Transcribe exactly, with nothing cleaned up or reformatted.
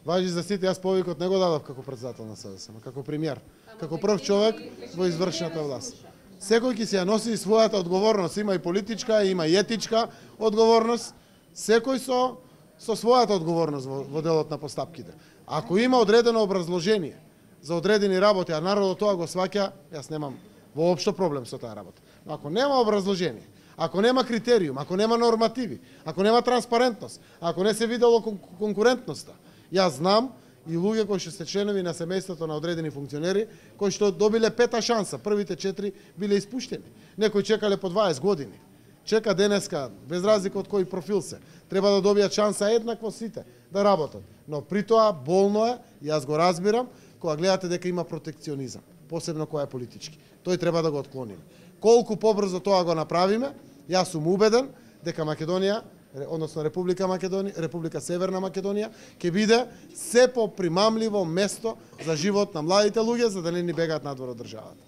Важи за сите, јас повикот не го дадов како председател на СДСМ, како премиер, како прв човек во извршната власт. Секој ќе си ја носи својата одговорност, има и политичка, има и етичка одговорност, секој со со својата одговорност во, во делот на постапките. Ако има одредено образложение за одредени работи, а народот тоа го сваќа, јас немам воопшто проблем со таа работа. Но ако нема образложение, ако нема критериум, ако нема нормативи, ако нема транспарентност, ако не се видело кон конкурентноста, јас знам и луѓе кои што се членови на семејството на одредени функционери, кои што добиле пета шанса, првите четири биле испуштени. Некои чекале по дваесет години. Чека денеска, без разлика од кој профил се, треба да добијат шанса еднакво сите да работат. Но при тоа болно е, јас го разбирам, кога гледате дека има протекционизам, посебно кој е политички. Тој треба да го отклониме. Колку побрзо тоа го направиме, јас сум убеден дека Македонија, односно Република Македонија, Република Северна Македонија, ќе биде се попримамливо место за живот на младите луѓе, за да не ни бегаат надвор од државата.